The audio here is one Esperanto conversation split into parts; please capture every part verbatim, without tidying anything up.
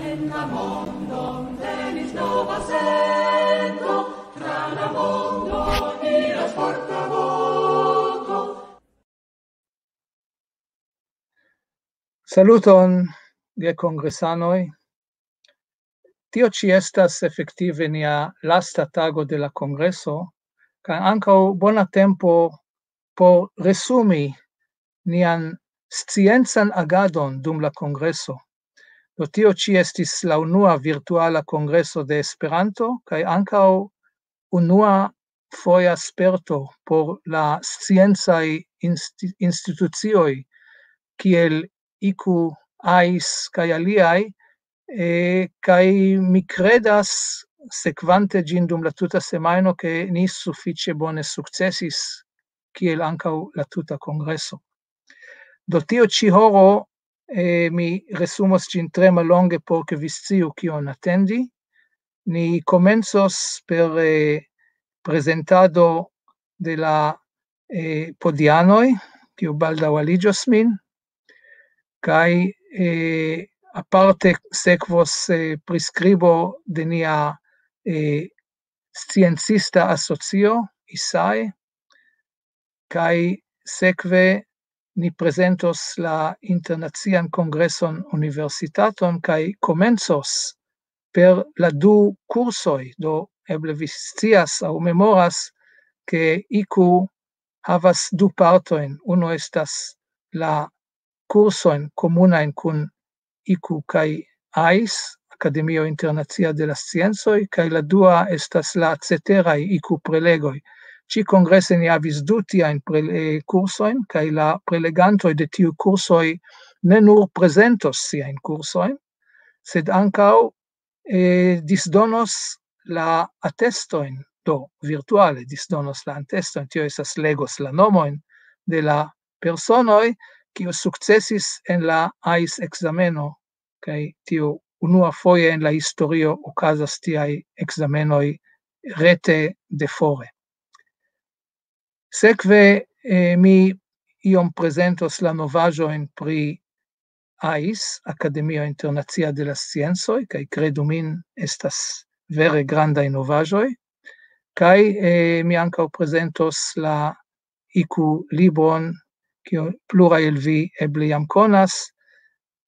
En la mondon venis nova sento, tra la mondo iras forta voko. Saluton, gekongresanoj. Tio ĉi estas efektive nia lasta tago de la kongreso, kaj ankaŭ bona tempo por resumi nian sciencan agadon dum la kongreso. Do tio ĉi estis la unua virtuala kongreso de Esperanto, kaj ankaŭ unua foja sperto por la sciencaj insti-, institucioj, kiel iku, ais kaj aliaj, eh, kaj mi kredas, sekvante ĝin dum la tuta semajno, ke ni sufiĉe bone sukcesis, kiel ankaŭ la tuta kongreso. Do tio ĉi horo, eh, mi resumos ĝin tre mallonge, por ke vi sciu kion atendi. Ni komencos per, eh, prezentado de la, eh, podianoj, kiu baldaŭ aliĝos min, kaj, eh, aparte sekvos, eh, priskribo de nia, eh, sciencista asocio, isai, kaj sekve ni prezentos la Internacian Kongreson Universitaton, kaj komencos per la du kursoj. Do eble vi scias aŭ memoras, ke iku havas du partojn. Unu estas la kursojn komunajn kun iku kaj ais, Akademio Internacia de la Sciencoj, kaj la dua estas la ceteraj iku prelegoj. Ĉi kongrese ni havis du tiajn prele-, kursojn, kaj la prelegantoj de tiu kursoj ne nur prezentos siajn kursojn, sed ankaŭ, eh, disdonos la atestojn, do virtuale disdonos la atestojn, tio estas legos la nomojn de la personoj, kiu sukcesis en la ais ekzameno, kaj tio unua foje en la historio okazas tiaj ekzamenoj rete de fore. Sekve, eh, mi iom prezentos la novaĵojn pri ais, Akademio Internacia de la Sciencoj, kaj kredu min, estas vere grandaj novaĵoj. Kaj, eh, mi ankaŭ prezentos la iku libron, kiu pluraj el vi eble jam konas,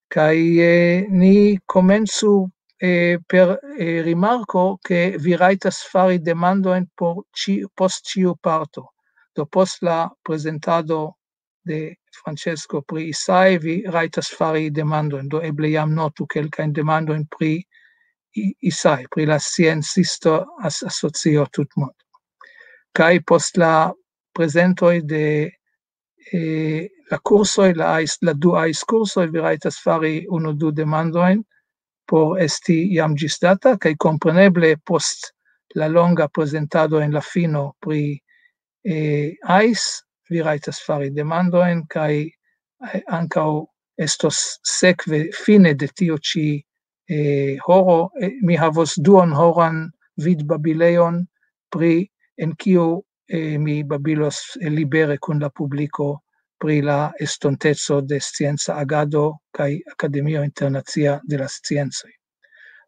kaj, eh, ni komencu, eh, per, eh, rimarko, ke vi rajtas fari demandojn por ĉi-, post ĉiu parto. Do post la prezentado de Francesco pri isai, vi rajtas fari demandojn. Do eble jam notu kelkajn demandojn pri i-, isai, pri la sciencisto as-, asocio tutmond. Kaj post la prezentoj de, eh, la kursoj, la ais-, la du ais kursoj, vi rajtas fari unu du demandojn por esti jam ĝisdata, kaj kompreneble post la longa prezentado en la fino pri, eh, ais, vi rajtas fari demandojn, kaj, eh, ankaŭ estos sekve fine de tio ĉi, eh, horo, eh, mi havos duonhoran vidbabilejon pri, en kiu, eh, mi babilos, eh, libere kun la publiko pri la estonteco de scienca agado kaj Akademio Internacia de la Sciencoj.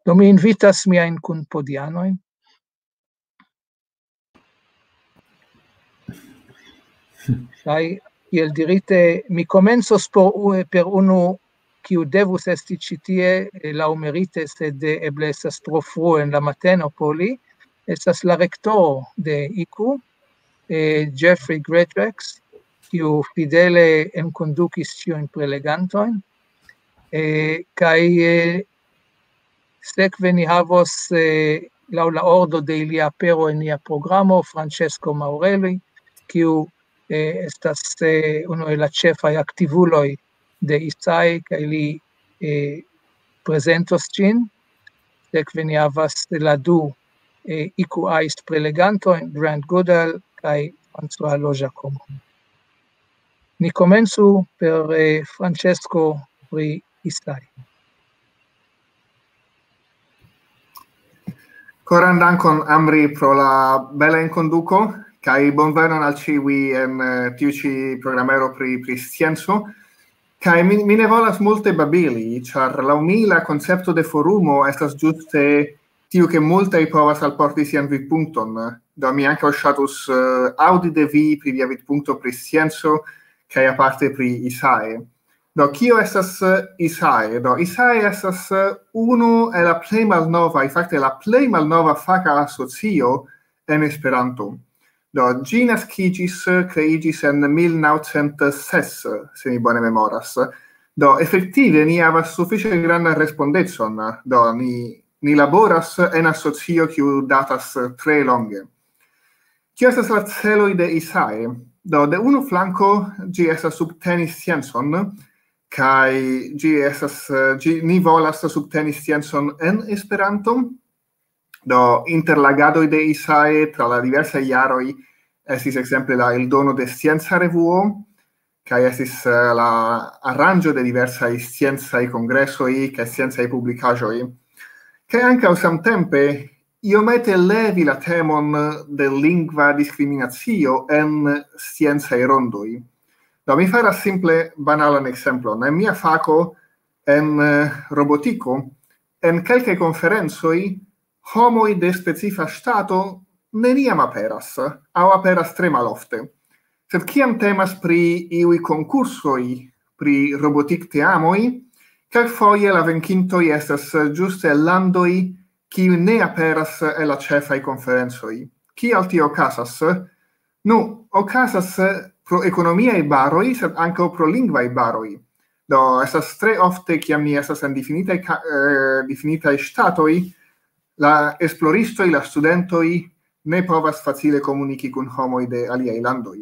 Do mi invitas miajn kunpodianojn. Kaj, kiel dirite, mi komencos por u-, per unu, kiu devus esti ĉi tie, eh, laŭmerite, sed, eh, eble estas tro frue en la mateno por li. Estas la rektoro de iku, eh, Jeffrey Greatrex, kiu fidele enkondukis ĉiujn prelegantojn. Eh, kaj, eh, sekve ni havos, eh, laŭ la ordo de ilia apero en nia programo, Francesco Maurelli, kiu, eh, estas, eh, unu el la ĉefaj aktivuloj de isai, kaj li, eh, prezentos ĝin. Sekve ni havas la du, eh, iku ais prelegantojn, Grant Goodall kaj François Lojacomo. Ni komencu per, eh, Francesco pri isai. Koran dankon, Amri, pro la bela enkonduko, kaj bonvenon al ĉiuj en, eh, tiu ĉi programero pri, pri scienco. Kaj mi, mi ne volas multe babili, ĉar laŭ mi la koncepto de forumo estas ĝuste tiu, ke multaj povas alporti sian vidpunkton. Do mi ankaŭ ŝatus uh, aŭdi de vi pri via vidpunkto pri scienco, kaj aparte pri ISAE. Do kio estas uh, ISAE? Do ISAE estas uh, unu el la plej malnovaj, fakte la plej malnova faka asocio en Esperanto. Do ĝi naskiĝis, kreiĝis en mil naŭcent ses, se mi bone memoras. Do efektive ni havas sufiĉe grandan respondecon. Do ni, ni laboras en asocio kiu datas tre longe. Kio estas la celoj de ISAE? Do de unu flanko ĝi estas subteni sciencon, kaj ĝi estas, ĝi, ni volas subteni sciencon en Esperanto. Do inter la agadoj de ISAE tra la diversaj jaroj estis ekzemple la eldono de Scienca Revuo, kaj estis uh, la aranĝo de diversaj sciencaj kongresoj kaj sciencaj publikaĵoj. Kaj ankaŭ samtempe iomete levi la temon de lingva diskriminacio en sciencaj rondoj. Do mi faras simple banalan ekzemplon. En mia fako, en uh, robotiko, en kelkaj konferencoj homoj de specifa ŝtato neniam aperas, aŭ aperas tre malofte. Sed kiam temas pri iuj konkursoj pri robotikteamoj, kelkfoje la venkintoj estas ĝuste landoj, kiuj ne aperas en la ĉefaj konferencoj. Kial tio okazas? Nu, okazas pro ekonomiaj baroj, sed ankaŭ pro lingvaj baroj. Do estas tre ofte, kiam ni estas en difinitaj, uh, difinitaj ŝtatoj, la esploristoj, la studentoj ne povas facile komuniki kun homoj de aliaj landoj.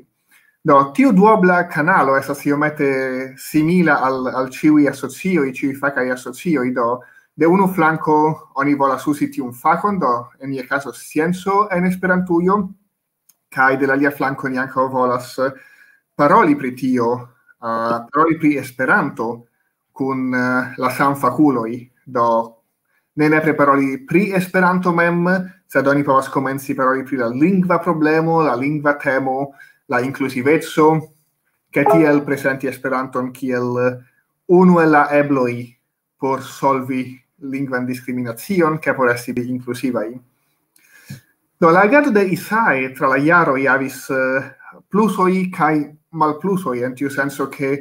Do tiu duobla kanalo estas iomete simila al, al ĉiuj asocioj, ĉiuj fakaj asocioj. Do de unu flanko oni volas uzi tiun fakon, do en nia kazo scienco en Esperantujo, kaj de la alia flanko ni ankaŭ volas paroli pri tio, uh, paroli pri Esperanto kun uh, la samfakuloj. Do ne nepre paroli pri Esperanto mem, sed oni povas komenci paroli pri la lingva problemo, la lingva temo, la inkluziveco, kaj tiel prezenti Esperanton kiel unu el la ebloj por solvi lingvan diskriminacion, kaj por esti inkluzivaj. Do la agado de ISAE tra la jaroj havis uh, plusoj kaj malplusoj, en tiu senso, ke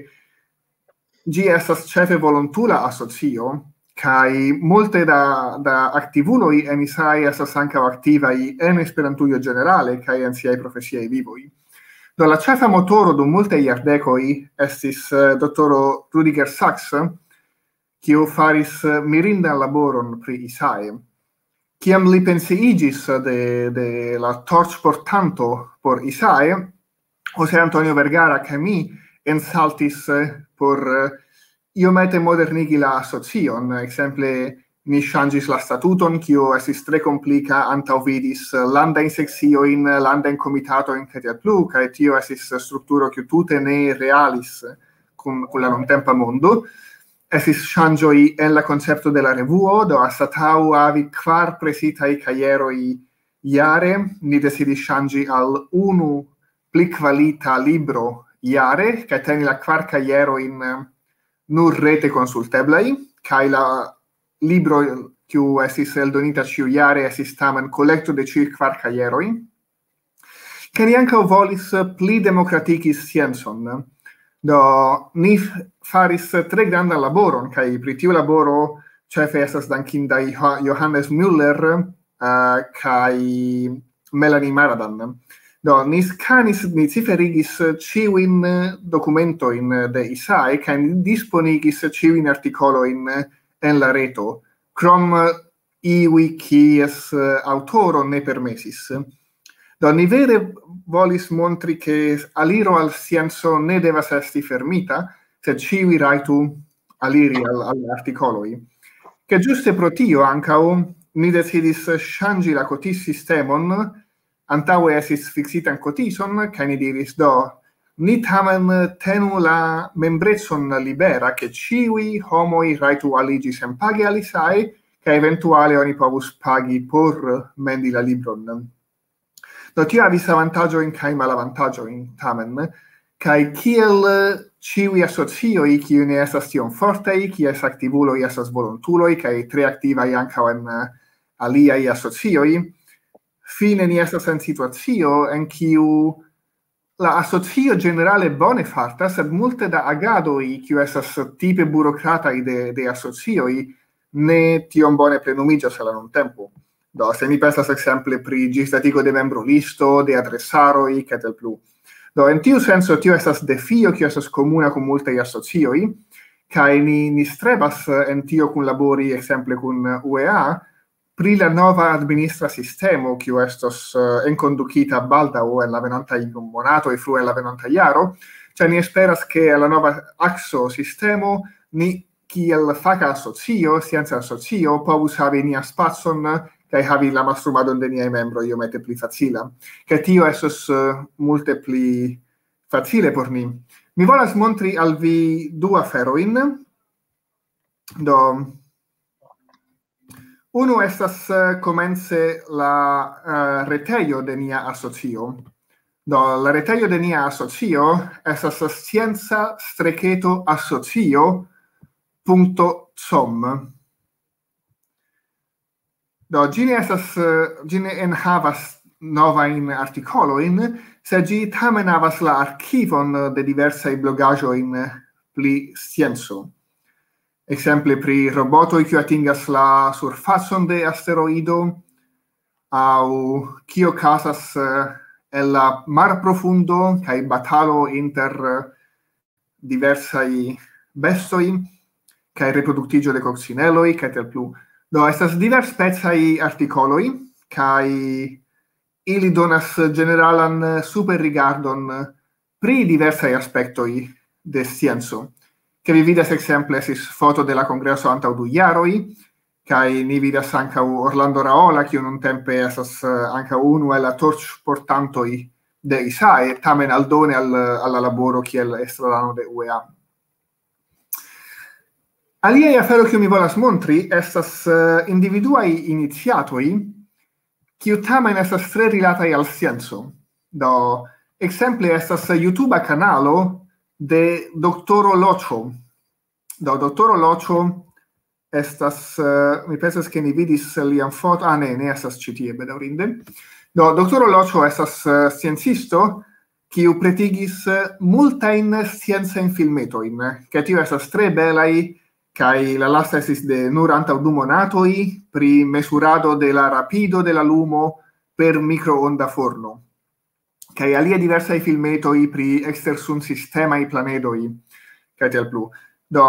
ĝi estas ĉefe volontula asocio, kaj multe da, da aktivuloj en ISAE estas ankaŭ aktivaj en Esperantujo ĝenerale kaj en siaj profesiaj vivoj. Do la ĉefa motoro dum multaj jardekoj estis uh, doktoro Rüdiger Sachs, kiu faris uh, mirindan laboron pri ISAE. Kiam li pensiiĝis de, de la torĉportanto por ISAE, José Antonio Vergara kaj mi ensaltis uh, por uh, iomete modernigi la asocion. Ekzemple, ni ŝanĝis la statuton, kio estis tre komplika, antaŭvidis landajn sekciojn, landajn komitatojn, kaj tiel plu, kaj tio estis strukturo, kiu tute ne realis kun, kun la nuntempa mondo. Estis ŝanĝoj en la koncepto de la revuo, do anstataŭ havi kvar presitaj kajeroj jare, ni decidis ŝanĝi al unu pli kvalita libro jare, kaj teni la kvar kajerojn nur rete konsulteblaj, kaj la libro, kiu estis eldonita ĉiujare, estis tamen kolekto de ĉiuj kvar kajeroj. Kaj ni ankaŭ volis pli demokratigi sciencon. Do ni faris tre grandan laboron, kaj pri tiu laboro ĉefe estas dankinda Johannes Müller uh, kaj Melanie Maradan. Do ni skanis, ni ciferigis ĉiujn dokumentojn de ISAE, kaj ni disponigis ĉiujn artikolojn en la reto, krom iuj, kies uh, aŭtoro ne permesis. Do ni vere volis montri, ke aliro al scienco ne devas esti fermita, sed ĉiuj rajtu aliri al, al artikoloj. Ke ĝuste pro tio ankaŭ ni decidis ŝanĝi la kotiz-sistemon. Antaŭe estis fiksitan kotizon, kaj ni diris: "Do, ni tamen tenu la membrecon libera, ke ĉiuj homoj rajtu aliĝi senpage al ISAE, kaj eventuale oni povus pagi por mendi la libron." Do tio havis avantaĝojn kaj malavantaĝojn tamen, Kaj kiel, eh, ĉiuj asocioj, kiuj ne estas tiom fortaj, kies aktivuloj estas volontuloj, kaj tre aktivaj ankaŭ en, eh, aliaj asocioj, fine ni estas en situacio en kiu la asocio ĝenerale bone fartas, sed multe da agadoj, kiu estas tipe burokrataj de, de asocioj, ne tiom bone plenumiĝas al la nuntempo. Do, se mi pensas ekzemple pri ĝisdatigo de membrolisto, de adresaroj, kaj tiel plu. Do, en tiu senco, tio estas defio, kiu estas komuna kun multaj asocioj, kaj ni, ni strebas, eh, en tio kunlabori, ekzemple kun, eh, U E A, pri la nova administra sistemo, kiu estos, eh, enkondukita baldaŭ en la venontaj monatoj, frue en la venonta jaro, ĉar ni esperas, ke la nova akso sistemo, ni kiel faka asocio, scienca asocio, povus havi nian spacon kaj havi la mastrumadon de niaj membroj iomete pli facila. Kaj tio estos, eh, multe pli facile por ni. Mi volas montri al vi du aferojn. Do, unu estas, eh, komence la, eh, retejo de nia asocio. Do, la retejo de nia asocio estas scienca streketo asocio punto com. Do, ĝi ne estas, eh, ĝi ne enhavas novajn artikolojn, sed ĝi tamen havas la arkivon de diversaj blogaĵojn pri scienco. Ekzemple pri robotoj, kiu atingas la surfacon de asteroido, aŭ kio okazas, eh, en la marprofundo kaj batalo inter, eh, diversaj bestoj, kaj reproduktiĝo de koksineloj, kaj tiel plu. Do, estas diversspecaj artikoloj, kaj ili donas ĝeneralan superrigardon pri diversaj aspektoj de scienco. Ke vi vidas, ekzemple, estis foto de la kongreso antaŭ du jaroj, kaj ni vidas ankaŭ Orlando Raola, kiu nuntempe estas, eh, ankaŭ unu el la torĉportantoj de isae, tamen aldone al, al la laboro kiel estrarano de U E A. Aliaj aferoj, kiu mi volas montri, estas, eh, individuaj iniciatoj, kiu tamen estas tre rilataj al scienco. Do, ekzemple estas YouTube kanalo de doktoro Loĉo. Do, doktoro Loĉo estas, eh, mi pensas, ke ni vidis lian foto, ah, ne, ne estas ĉi tie, bedaŭrinde. Do, doktoro Loĉo estas, eh, sciencisto, kiu pretigis, eh, multajn sciencajn filmetojn, ke tio estas tre belaj, kaj la lasta estis de nur antaŭ du monatoj, pri mezurado de la rapido de la lumo per mikroonda forno. Kaj aliaj diversaj filmetoj pri ekstersunsistemaj planedoj, kaj tiel plu. Do,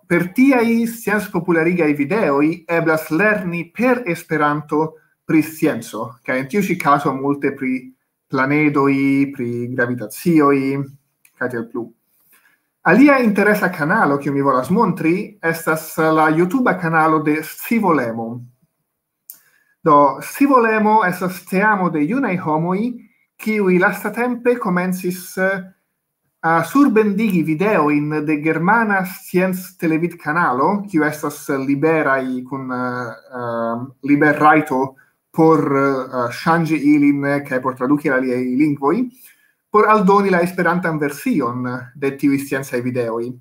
per tiaj scienc-popularigaj videoj eblas lerni per Esperanto pri scienco, kaj en tiu ĉi kazo multe pri planedoj, pri gravitacioj, kaj tiel plu. Alia interesa kanalo, kiu mi volas montri, estas la YouTube kanalo de Scivolemo. Do, Scivolemo estas teamo de junaj homoj, kiuj lastatempe komencis, eh, a surbendigi videojn de germana scienc-televid-kanalo, kiu estas liberaj kun, eh, eh, liberrajto por, eh, ŝanĝi ilin, eh, kaj por traduki al aliaj lingvoj, por aldoni la esperantan version de tiuj sciencaj videoj.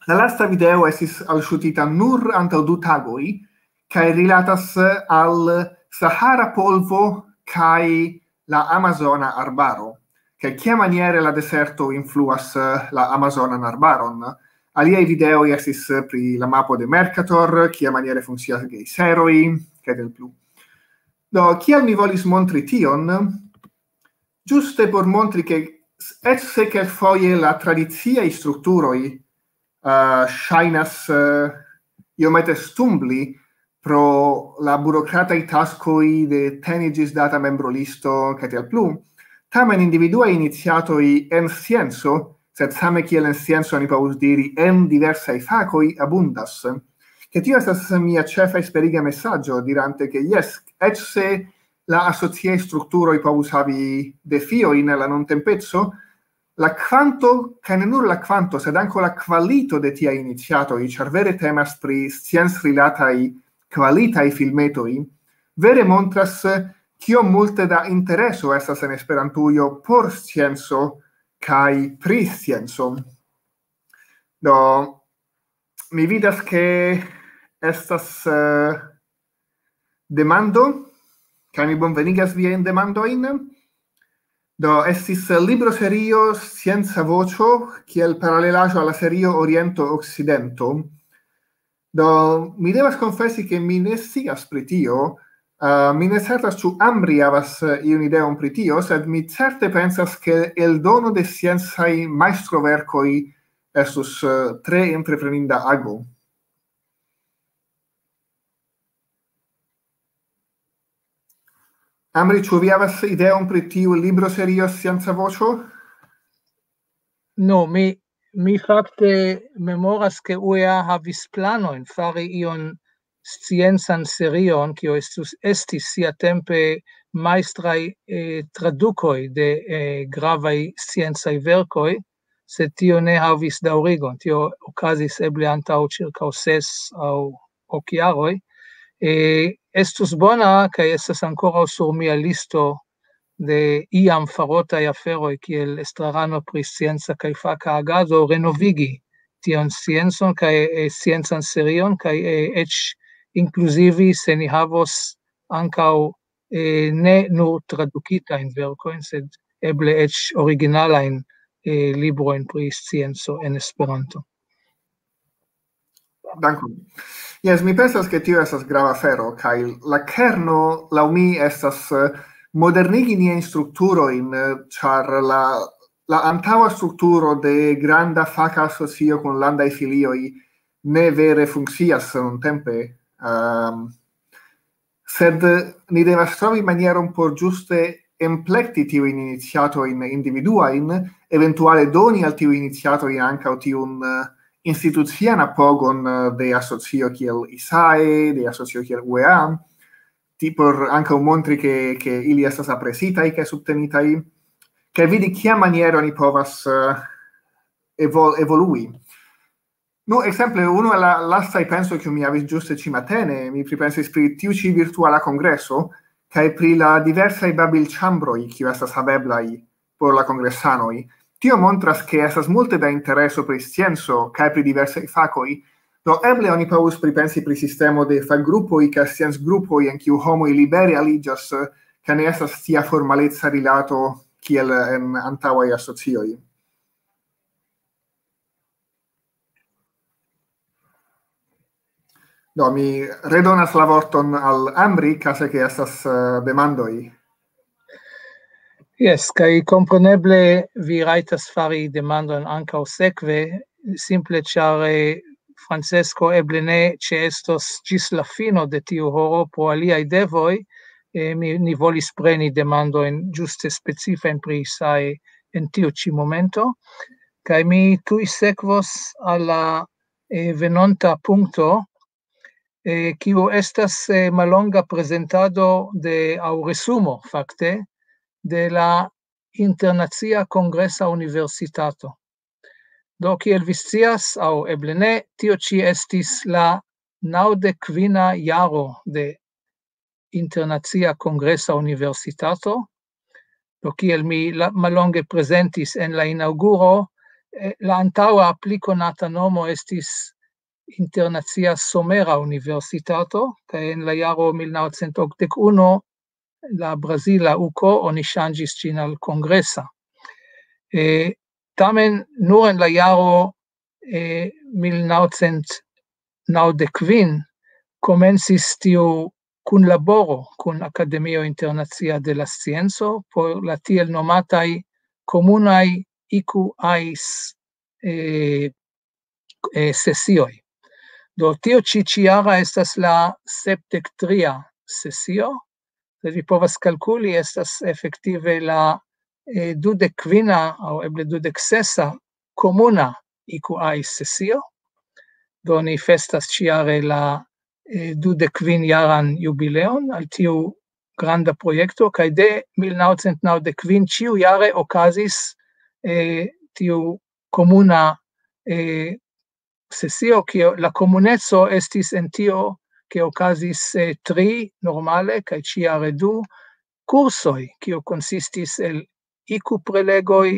La lasta video estis alŝutita nur antaŭ du tagoj, kaj rilatas, eh, al Sahara polvo kaj la Amazona arbaro, kaj kiamaniere la deserto influas, eh, la Amazonan arbaron. Aliaj videoj estis, eh, pri la mapo de Mercator, kiamaniere funkcias gejseroj, kaj tiel plu. Do, kial mi volis montri tion? Ĝuste por montri, ke s-, eĉ se kelkfoje la tradiciaj strukturoj, eh, ŝajnas, eh, iomete stumbli pro la burokrataj taskoj de teni ĝisdata membrolisto, kaj tiel plu, tamen individuaj iniciatoj en scienco, sed same kiel en scienco, ni povus diri, en diversaj fakoj abundas. Ke tio estas mia ĉefa esperiga mesaĝo, dirante, ke jes, eĉ se la asociaj strukturoj povus havi defiojn en la nuntempeco, la kvanto, kaj ne nur la kvanto, sed ankaŭ la kvalito de tiaj iniciatoj, ĉar vere temas pri sciencrilataj kvalitaj filmetoj, vere montras, kiom multe da intereso estas en Esperantujo por scienco, kaj pri scienco. Do, mi vidas, ke estas eh, demando, kaj mi bonvenigas viajn demandojn. Do, estis libroserio Scienca Voĉo, kiel paralelaĵo al la serio Oriento Okcidento. Do, mi devas konfesi, ke mi ne scias pri tio. Uh, mi ne certas, ĉu Amri havas eh, iun ideon pri tio, sed mi certe pensas, ke eldono de sciencaj majstroverkoj estus eh, tre entrepreninda ago. Amri, ĉu vi havas ideon pri tiu libroserio Scienca Voĉo? No, mi, mi fakte memoras, ke U E A havis planojn fari ion sciencan serion, kio estus, estis siatempe majstraj eh, tradukoj de eh, gravaj sciencaj verkoj, sed tio ne havis daŭrigon. Tio okazis eble antaŭ ĉirkaŭ ses aŭ ok jaroj. Eh, estus bona, kaj estas ankoraŭ sur mia listo de iam farotaj aferoj kiel estrarano pri scienca kaj faka agado, renovigi tion sciencon kaj eh, sciencan serion, kaj eh, eĉ inkluzivi, se ni havos ankaŭ eh, ne nur tradukitajn verkojn, sed eble eĉ originalajn eh, librojn pri scienco en Esperanto. Dankon. Jes, mi pensas, ke tio estas grava afero, kaj la kerno, laŭ mi, estas eh, modernigi niajn strukturojn, eh, ĉar la, la antaŭa strukturo de granda faka asocio kun landaj filioj ne vere funkcias nuntempe. Um, sed ni devas trovi manieron por ĝuste emplekti tiujn iniciatojn individuajn, eventuale doni al tiuj iniciatojn ankaŭ tiun eh, institucian apogon eh, de asocio kiel isae, de asocio kiel U E A, ti por ankaŭ montri, ke, ke ili estas apresitaj kaj subtenitaj, kaj vidi, kia maniero ni povas eh, evol, evolui. Nu, ekzemple, unu el la lastaj pensoj, kiu mi havis ĝuste ĉi matene, mi pripensis pri tiu ĉi virtuala kongreso, kaj pri la diversaj babilĉambroj, kiu estas haveblaj por la kongresanoj. Tio montras, ke estas multe da intereso pri scienco kaj pri diversaj fakoj. Do eble oni povus pripensi pri sistemo de fakgrupoj kaj sciencgrupoj, en kiu homoj libere aliĝas, kaj ne estas tia formaleca rilato kiel en antaŭaj asocioj. Do, mi redonas la vorton al Amri, kaze ke estas eh, demandoj. Jes, kaj kompreneble vi rajtas fari demandon ankaŭ sekve, simple ĉar eh, Francesco eble ne ĉeestos ĝis la fino de tiu horo pro aliaj devoj. Eh, mi, ni volis preni demandojn ĝuste specifajn pri isae en tiu ĉi momento. Kaj mi tuj sekvos al la eh, venonta punkto, eh, kiu estas eh, mallonga prezentado de, aŭ resumo fakte, de la Internacia Kongresa Universitato. Do, kiel vi scias, aŭ eble ne, tio ĉi estis la naŭdek kvina jaro de Internacia Kongresa Universitato. Do, kiel mi la, mallonge prezentis en la inaŭguro, eh, la antaŭa pli konata nomo estis Internacia Somera Universitato, kaj en la jaro mil naŭcent okdek unu la brazila uko oni ŝanĝis ĝin al kongresa. Eh, tamen nur en la jaro eh, mil naŭcent naŭdek kvin komencis tiu kunlaboro kun Akademio Internacia de la Scienco por la tiel nomataj komunaj I Q As eh, eh, sesioj. Do tio ĉi ĉijara estas la sepdek tria sesio, sed vi povas kalkuli, estas efektive la eh, dudek kvina aŭ eble dudek sesa komuna I Q A sesio. Do ni festas ĉijare la eh, dudek kvin jaran jubileon al tiu granda projekto, kaj de mil naŭcent naŭdek kvin ĉiujare okazis eh, tiu komuna eh, sesio, kio la komuneco estis en tio, ke okazis eh, tri normale, kaj ĉijare du kursoj, kio konsistis el I Q prelegoj,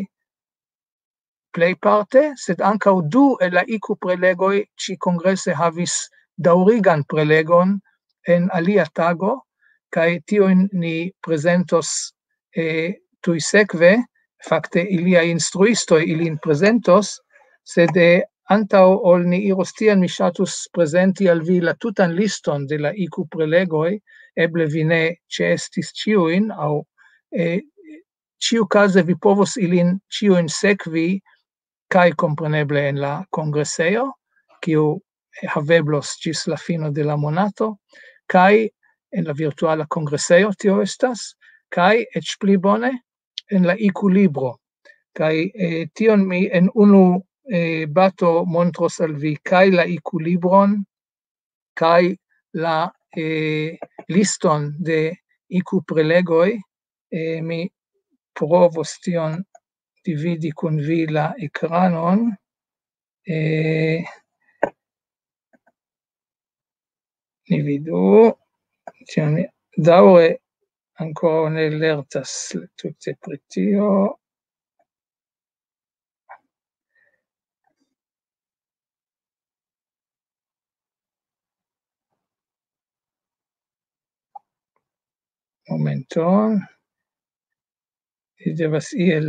plejparte, sed ankaŭ du el la IQ-prelegoj ĉi-kongrese havis daŭrigan prelegon en alia tago, kaj tiujn ni prezentos, eh, tuj sekve, fakte iliaj instruistoj ilin prezentos, sed, eh, antaŭ ol ni iros tien, mi ŝatus prezenti al vi la tutan liston de la IQ-prelegoj, eble vi ne ĉeestis ĉiujn, aŭ, eh, ĉiukaze vi povos ilin ĉiujn sekvi, kaj kompreneble en la kongresejo, kiu haveblos ĝis la fino de la monato, kaj en la virtuala kongresejo tio estas, kaj eĉ pli bone en la IQ-libro. Kaj, eh, tion mi en unu, eh, bato montros al vi kaj la IQ-libron, kaj la, eh, liston de IQ-prelegoj. Eh, mi provos tion dividi kun vi la ekranon. Eh, ni vidu, tion mi daŭre ankoraŭ ne lertas tute pri tio. Momenton. Ni devas iel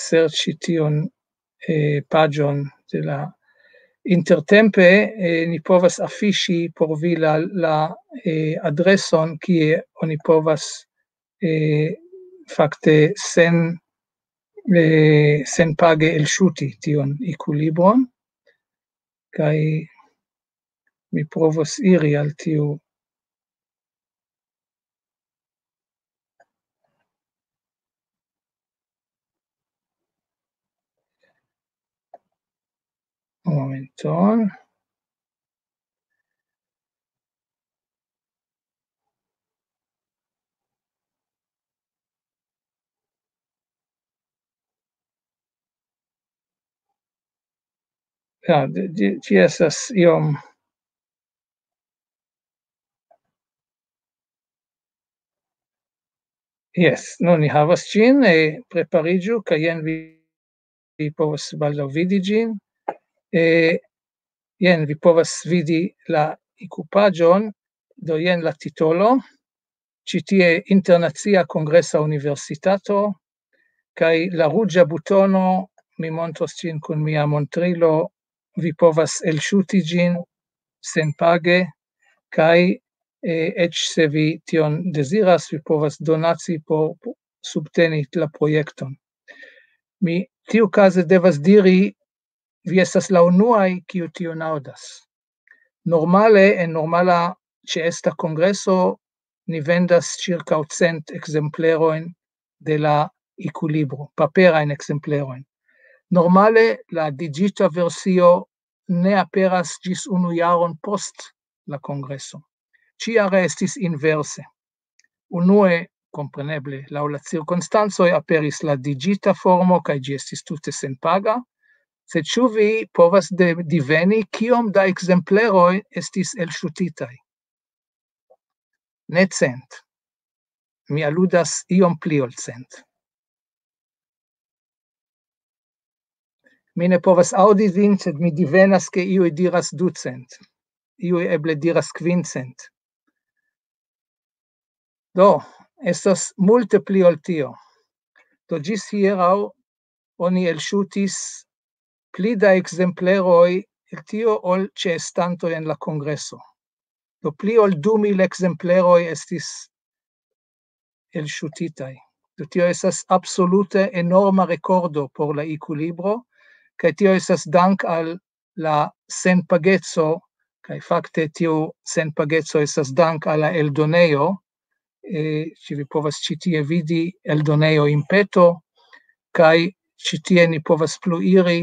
serĉi tion, eh, paĝon de la intertempe, eh, ni povas afiŝi por vi la, la, eh, adreson, kie oni povas, eh, fakte sen, eh, senpage elŝuti tion IQ-libron. Kaj mi provos iri al tiu. Momenton. Ja, ĝi, ĝi estas iom. Jes, nun ni havas ĝin, eh, prepariĝu, kaj jen vi, vi povas baldaŭ vidi ĝin. Eh, jen vi povas vidi la IQ-paĝon, do jen la titolo, ĉi tie Internacia Kongresa Universitato, kaj la ruĝa butono, mi montros ĝin kun mia montrilo, vi povas elŝuti ĝin senpage, kaj, eh, eĉ se vi tion deziras, vi povas donaci por subteni la projekton. Mi tiukaze devas diri, vi estas la unuaj, kiu tion aŭdas. Normale, en normala ĉeesta kongreso, ni vendas ĉirkaŭ cent ekzemplerojn de la IQ-libro, paperajn ekzemplerojn. Normale, la digita versio ne aperas ĝis unu jaron post la kongreso. Ĉiare estis inverse. Unue, kompreneble, laŭ la cirkonstancoj aperis la digita formo, kaj ĝi estis tute senpaga. Sed ĉu vi povas de-, diveni, kiom da ekzempleroj estis elŝutitaj? Ne cent. Mi aludas iom pli ol cent. Mi ne povas aŭdi vin, sed mi divenas, ke iuj diras ducent. Iuj eble diras kvincent. Do, estas multe pli ol tio. Do, ĝis hieraŭ oni elŝutis pli da ekzempleroj el tio ol ĉeestantoj en la kongreso. Do, pli ol du mil ekzempleroj estis elŝutitaj. Do, tio estas absolute enorma rekordo por la IQ-libro, kaj tio estas dank al la senpageco, kaj fakte tiu senpageco estas dank al la eldonejo, eh, ĉi vi povas ĉi tie vidi eldonejo Impeto, kaj ĉi tie ni povas plu iri,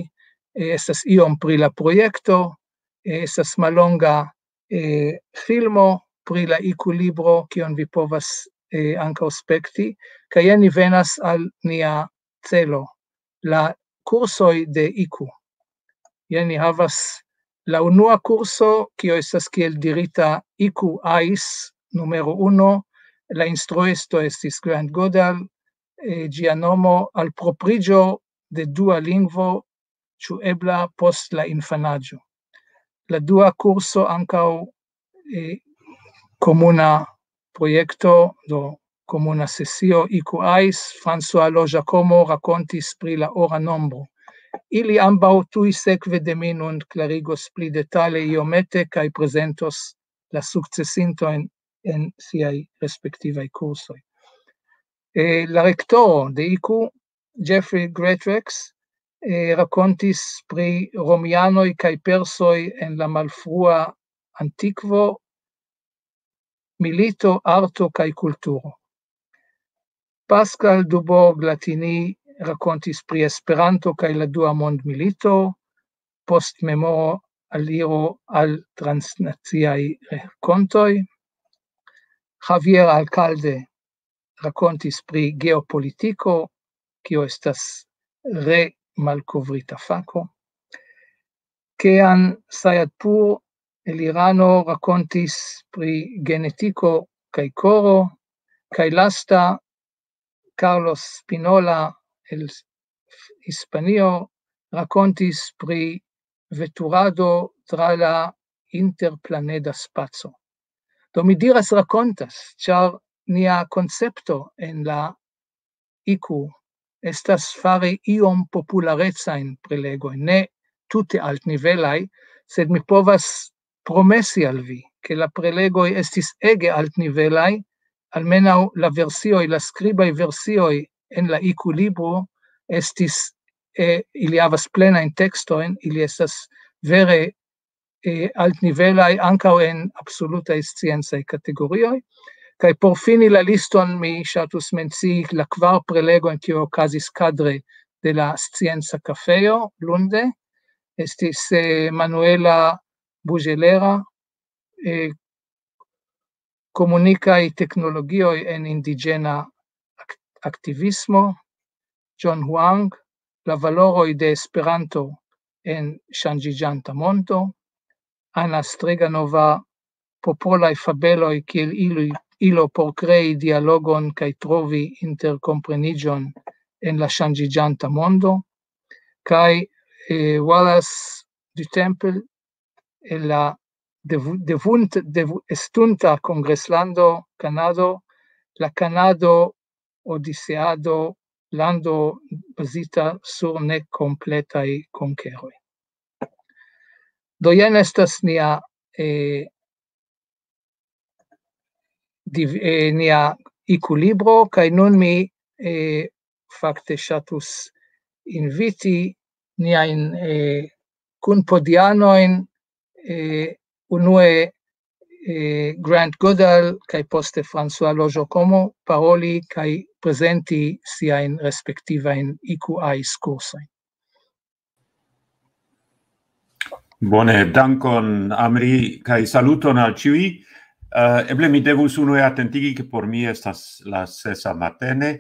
eh, estas iom pri la projekto, eh, estas mallonga, eh, filmo pri la IQ-libro, kion vi povas, eh, ankaŭ spekti, kaj jen ni venas al nia celo, la kursoj de IQ. Jen ni havas la unua kurso, kio estas kiel dirita IQ AIS numero uno, la instruisto estis Grant Godal, eh, ĝia nomo alpropriĝo de dua lingvo, ĉu ebla post la infanaĝo. La dua kurso ankaŭ, eh, komuna projekto, do komuna sesio, iku ais, François Lojacomo rakontis pri la ora nombro. Ili ambaŭ tuj sekve de mi nun klarigos pli detale iomete kaj prezentos la sukcesintojn en siaj respektivaj kursoj. Eh, la rektoro de iku, Jeffrey Greatrex, eh, rakontis pri romianoj kaj persoj en la malfrua antikvo, milito, arto kaj kulturo. Pascal Dubourg Latini rakontis pri Esperanto kaj la dua mondmilito, post memoro aliro al transnaciaj rakontoj. Javier Alcalde rakontis pri geopolitiko, kio estas re malkovrita fako. Kean Sayadpur el Irano rakontis pri genetiko kaj koro, kaj lasta Carlos Spinola el Hispanio rakontis pri veturado tra la interplaneda spaco. Do mi diras rakontas, ĉar nia koncepto en la iku estas fari iom popularecajn prelegojn, ne tute altnivelaj, sed mi povas promesi al vi, ke la prelegoj estis ege altnivelaj, almenaŭ la versioj, la skribaj versioj en la iku libro estis, eh, ili havas plenajn tekstojn, ili estas vere, eh, altnivelaj ankaŭ en absolutaj sciencaj kategorioj. Kaj por fini la liston mi ŝatus mencii la kvar prelegojn, kiuj okazis kadre de la Scienca Kafejo lunde. Estis, eh, Manuela Bugelera, eh, komunikaj teknologioj en indiĝena ak-, aktivismo, John Huang, la valoroj de Esperanto en ŝanĝiĝanta mondo, Ana Streganova, popolaj fabeloj kiel ili, ilo por krei dialogon kaj trovi interkompreniĝon en la ŝanĝiĝanta mondo, kaj, eh, Wallace du Temple, en la devu-, devunt-, devu-, estunta kongreslando Kanado, la Kanado odiseado, lando bazita sur nekompletaj konkeroj. Do jen estas nia, eh, div-, eh, nia iku libro, kaj nun mi, eh, fakte ŝatus inviti niajn, eh, kunpodianojn, eh, unue, eh, Grant Goodall kaj poste François Lojocomo paroli kaj prezenti siajn respektivajn iku ais kursojn. Bone, dankon, Amri, kaj saluton al ĉiuj. Eh, eble mi devus unue atentigi, ke por mi estas la sesa matene,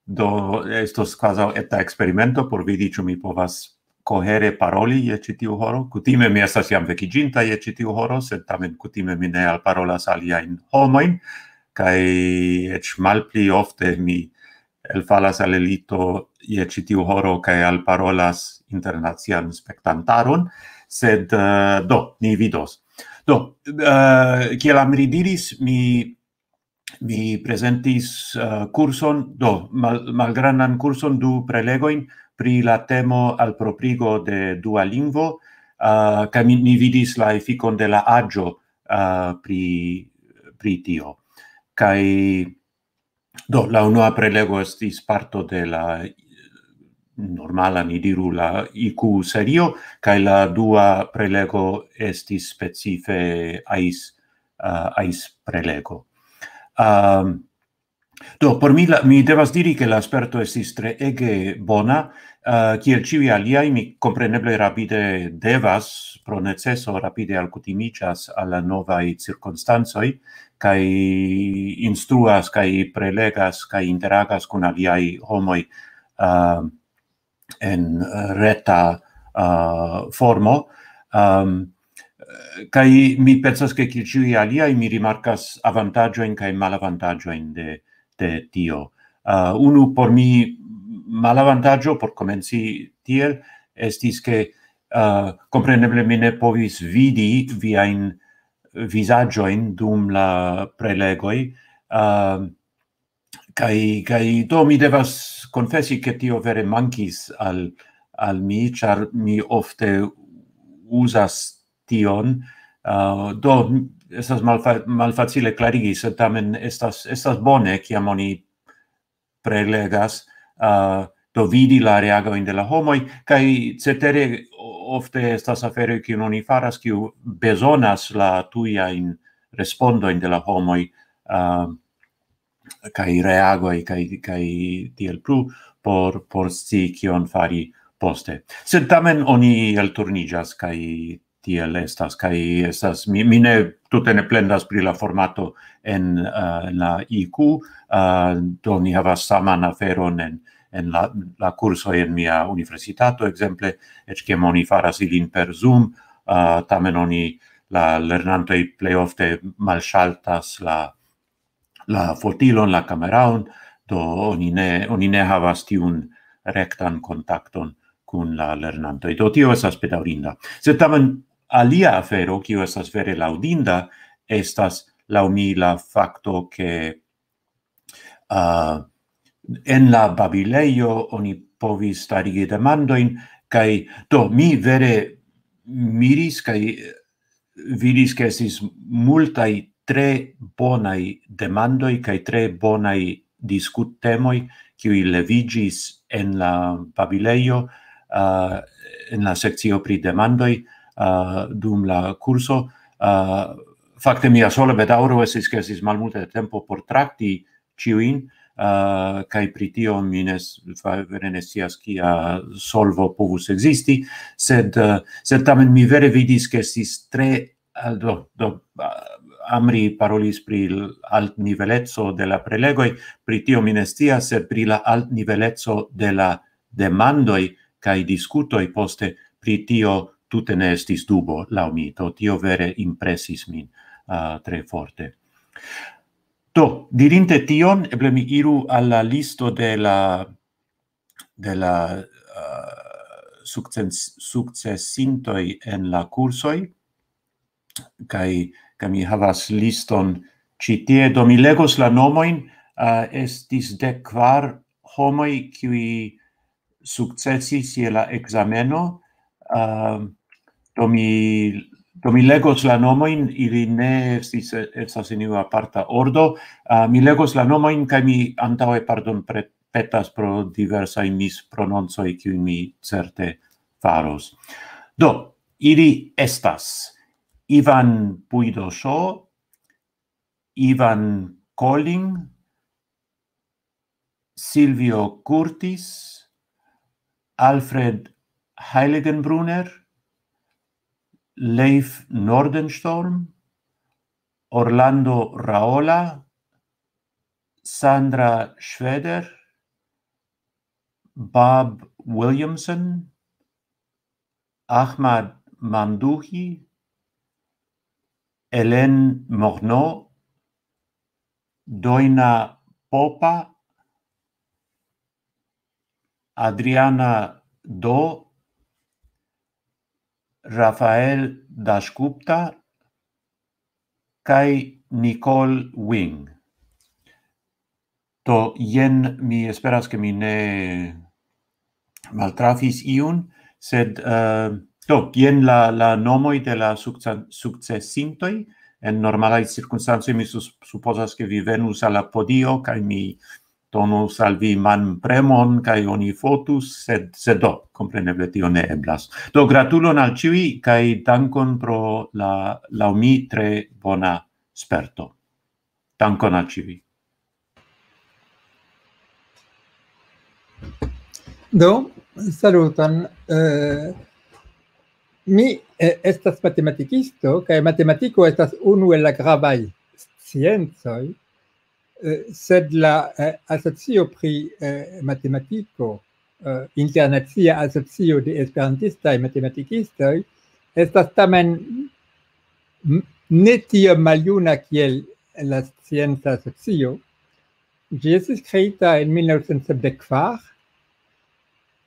do estos kvazaŭ eta eksperimento por vidi, ĉu mi povas kohere paroli je ĉi tiu horo. Kutime mi estas jam vekiĝinta je ĉi tiu horo, sed tamen kutime mi ne alparolas aliajn homojn, kaj eĉ malpli ofte mi elfalas al elito je ĉi tiu horo kaj alparolas internacian spektantaron, sed, eh, do, ni vidos. Do, eh, kiel Amri diris, mi, mi prezentis, eh, kurson, do, mal-, malgrandan kurson, du prelegojn pri la temo alproprigo de dua lingvo, eh, kaj mi, mi vidis la efikon de la aĝo, eh, pri, pri tio. Kaj do, la unua prelego estis parto de la normala, ni diru, la iku serio, kaj la dua prelego estis specife ais, eh, ais prelego. Ehm, do, por mi, la, mi devas diri, ke la sperto estis treege bona. Eh, kiel ĉiuj aliaj, mi kompreneble rapide devas, pro neceso, rapide alkutimiĝas al la novaj cirkonstancoj, kaj instruas, kaj prelegas, kaj interagas kun aliaj homoj, eh, en reta, eh, formo. Ehm, kaj mi pensas, ke kiel ĉiuj aliaj, mi rimarkas avantaĝojn kaj malavantaĝojn de, de tio. Uh, unu por mi malavantaĝo por komenci tiel estis, ke uh, kompreneble mi ne povis vidi viajn vizaĝojn dum la prelegoj. Uh, kaj, kaj do mi devas konfesi, ke tio vere mankis al, al mi, ĉar mi ofte uzas tion. Uh, do estas malfa malfacile klarigi, sed tamen estas, estas bone, kiam oni prelegas, uh, do vidi la reagojn de la homoj, kaj cetere ofte estas aferoj, kiun oni faras, kiu bezonas la tujajn respondojn de la homoj, uh, kaj reagoj, kaj, kaj tiel plu, por, por scii, kion fari poste. Sed tamen oni elturniĝas, kaj tiel estas, kaj estas, mi, mi ne tute ne plendas pri la formato en, uh, en la I Q, uh, do ni havas saman aferon en, en la, la kursoj en mia universitato, ekzemple, eĉ kiam oni faras ilin per Zoom, uh, tamen oni, la lernantoj plej ofte malŝaltas la, la fotilon, la kameraon, do oni ne, oni ne havas tiun rektan kontakton kun la lernantoj. Do tio estas bedaŭrinda. Sed tamen alia afero, kiu estas vere laŭdinda, estas laŭ mi la fakto, ke uh, en la babilejo oni povis starigi demandojn, kaj do mi vere miris kaj vidis, ke estis multaj tre bonaj demandoj kaj tre bonaj diskuttemoj, kiuj leviĝis en la babilejo, uh, en la sekcio pri demandoj, uh, dum la kurso. Uh, fakte mia sola bedaŭro estis, ke estis malmulte tempo por trakti ĉiujn, uh, kaj pri tio mi ne s-, fa-, vere ne scias, kia solvo povus ekzisti, sed, uh, sed tamen mi vere vidis, ke estis tre, uh, do, do, uh, Amri parolis pri l-, altniveleco de la prelegoj, pri tio mi ne scias, sed pri la altniveleco de la demandoj kaj diskutoj poste, pri tio tute ne estis dubo laŭ mi. Do tio vere impresis min, uh, tre forte. Do, dirinte tion, eble mi iru al la listo de la, de la, uh, sukces-, sukcesintoj en la kursoj, kaj, kaj mi havas liston ĉi tie. Do mi legos la nomojn, uh, estis dek kvar homoj, kiuj sukcesis je la ekzameno. Uh, do mi, do mi legos la nomojn, ili ne estis, estas en iu aparta ordo. Uh, mi legos la nomojn kaj mi antaŭe pardon pre-, petas pro diversaj misprononcoj, kiujn mi certe faros. Do, ili estas Ivan Puidoso, Ivan Colling, Silvio Curtis, Alfred Heiligenbrunner, Leif Nordenstorm, Orlando Raola, Sandra Schweder, Bob Williamson, Ahmad Mamduhi, Hélène Morneau, Doina Popa, Adriana Do, Rafael Dasgupta kaj Nicole Wing. Do, jen mi esperas, ke mi ne maltrafis iun, sed, eh, do, jen la, la nomoj de la sukce-, sukcesintoj. En normalaj cirkonstancoj mi sus-, supozas, ke vi venus al la podio, kaj mi donus al vi manpremon, kaj oni fotus, sed, sed do, kompreneble tio ne eblas. Do, gratulon al ĉiuj, kaj dankon pro la, laŭ mi, tre bona sperto. Dankon al ĉiuj. Do, saluton. Eh, mi, eh, estas matematikisto, kaj matematiko estas unu el la gravaj sciencoj, eh, sed la, eh, asocio pri, eh, matematiko, eh, Internacia Asocio de Esperantistaj Matematikistoj, estas tamen m-, ne tiom maljuna kiel la scienca asocio. Ĝi estis kreita en mil naŭcent sepdek kvar,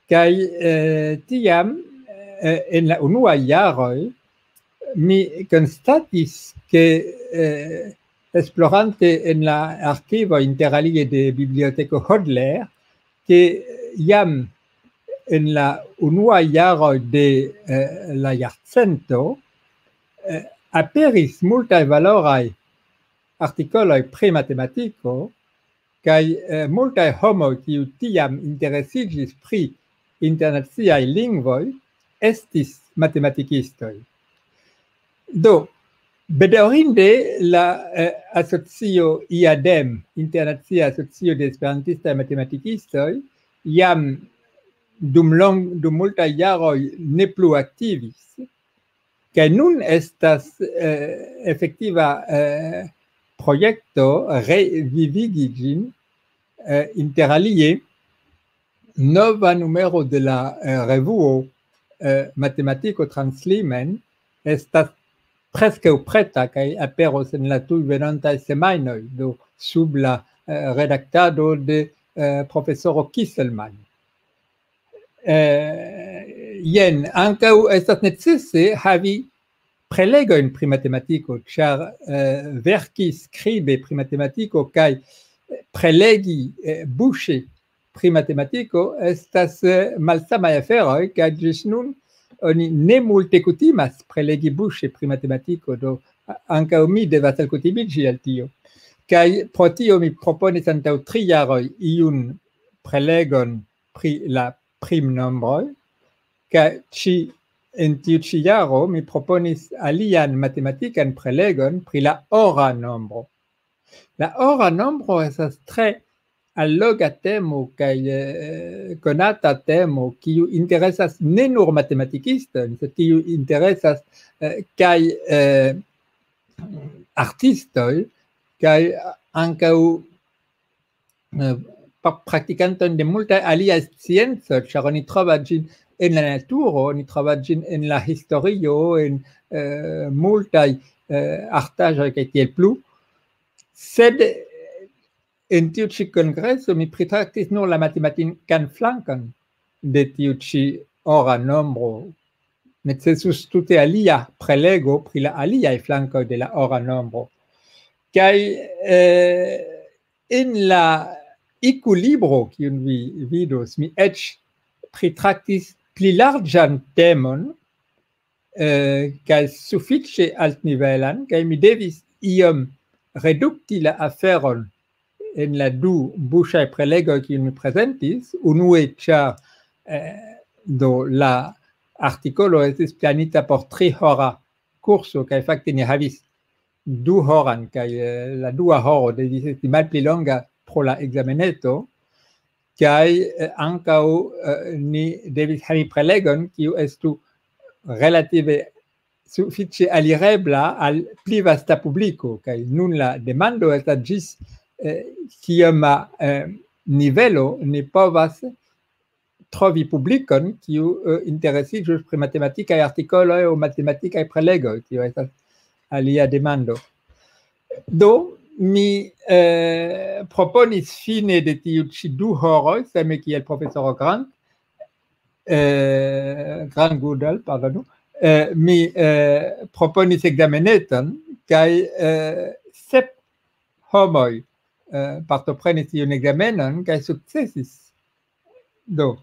kaj eh, tiam, eh, en la unua jaroj, mi konstatis, ke eh, esplorante en la arkivo, interalie de Biblioteko Hodler, ke jam en la unua jaroj de eh, la jarcento eh, aperis multaj valoraj artikoloj pri matematiko, kaj eh, multaj homoj, kiu tiam interesiĝis pri internaciaj lingvoj, estis matematikistoj. Do, bedaŭrinde la eh, asocio IADEM, Internacia Asocio de Esperantistaj Matematikistoj, jam dum, long, dum multaj jaroj ne plu aktivis. Kaj nun estas eh, efektiva eh, projekto revivigi ĝin, eh, interalie nova numero de la eh, revuo eh, Matematiko Translimen estas preskaŭ preta kaj aperos en la tuj venontaj semajnoj, do sub la eh, redaktado de eh, profesoro Kisselmann. Eh, jen, ankaŭ estas necese havi prelegojn pri matematiko, ĉar eh, verki skribe pri matematiko kaj prelegi eh, buŝe pri matematiko estas eh, malsamaj aferoj, kaj ĝis nun oni ne multe kutimas prelegi buŝe pri matematiko, do a- ankaŭ mi devas alkutimiĝi al tio. Kaj pro tio mi proponis antaŭ tri jaroj iun prelegon pri la primnombroj, kaj ĉi en tiu ĉi jaro mi proponis alian matematikan prelegon pri la ora nombro. La ora nombro estas tre alloga temo kaj eh, konata temo, kiu interesas ne nur matematikistojn, sed kiu interesas eh, kaj eh, artistoj, kaj ankaŭ eh, pa- praktikantojn de multaj aliaj sciencoj, ĉar oni trovas ĝin en la naturo, oni trovas ĝin en la historio, en eh, multaj eh, artaĵoj kaj tiel plu. Sed eh, en tiu ĉi kongreso mi pritraktis nur la matematikan flankon de tiu ĉi ora nombro. Necesus tute alia prelego pri la aliaj flankoj de la ora nombro. Kaj eh, en la iku libro, kiun vi vidos, mi eĉ pritraktis pli larĝan temon, eh, kaj sufiĉe altnivelan, kaj mi devis iom redukti la aferon en la du buŝaj prelegoj, kiujn mi prezentis. Unue, ĉar eh, do la artikolo estis planita por tri hora kurso, kaj fakte ni havis du horan, kaj eh, la dua horo devis esti malpli longa pro la ekzameneto, kaj eh, ankaŭ eh, ni devis havi prelegon, kiu estu relative sufiĉe alirebla al pli vasta publiko. Kaj nun la demando estas ĝis eh, kioma eh, nivelo ni povas trovi publikon, kiu eh, interesiĝus pri matematikaj artikoloj aŭ matematikaj prelegoj. Tio estas alia demando. Do, mi eh, proponis fine de tiu ĉi du horoj, same kiel profesoro Grant, eh, Grant Goodall, pardonu, eh, mi eh, proponis ekzameneton, kaj eh, sep homoj eh, partoprenis tiun ekzamenon kaj sukcesis. Do,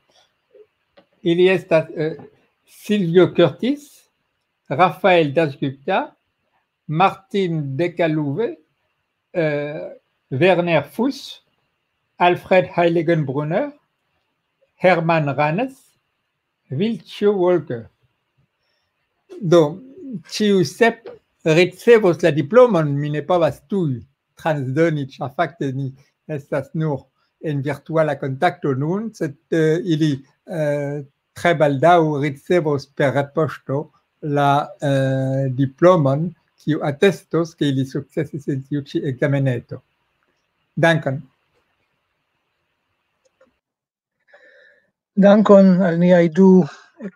ili estas eh, Silvio Curtis, Rafael Dasgupta, Martin Decaluve, eh, Werner Fuss, Alfred Heiligenbrunner, Hermann Ranes, Wiltjo Walker. Do, ĉiu sep ricevos la diplomon, mi ne povas tuj transdoni, ĉar fakte ni estas nur en virtuala kontakto nun, sed eh, ili eh, tre baldaŭ ricevos per repoŝto la eh, diplomon, kiu atestos, ke ili sukcesis en tiu ĉi ekzameneto. Dankon. Dankon al niaj du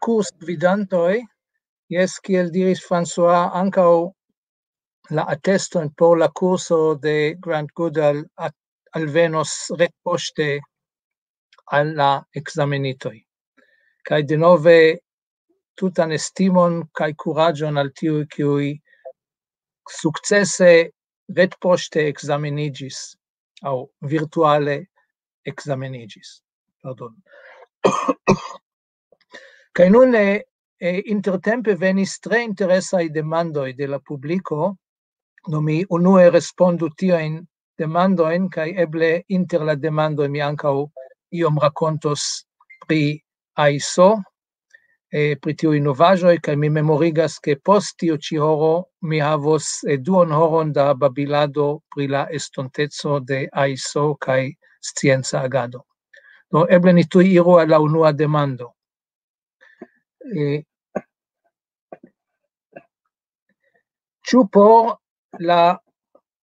kursgvidantoj. Jes, kiel diris François, ankaŭ la ateston por la kurso de Grant Goodall at- alvenos retpoŝte al la ekzamenitoj. Kaj denove tutan estimon kaj kuraĝon al tiuj, kiuj sukcese retpoŝte ekzameniĝis aŭ virtuale ekzameniĝis. Pardon. Kaj nun, eh, eh, intertempe venis tre interesaj demandoj de la publiko. Do mi unue respondu tiajn demandojn, kaj eble inter la demandoj mi ankaŭ iom rakontos pri aiso, eh, pri tiuj novaĵoj, kaj mi memorigas, ke post tiu ĉi horo mi havos, eh, duon horon da babilado pri la estonteco de aiso kaj scienca agado. Do eble ni tuj iru al la unua demando. Eh, ĉu por la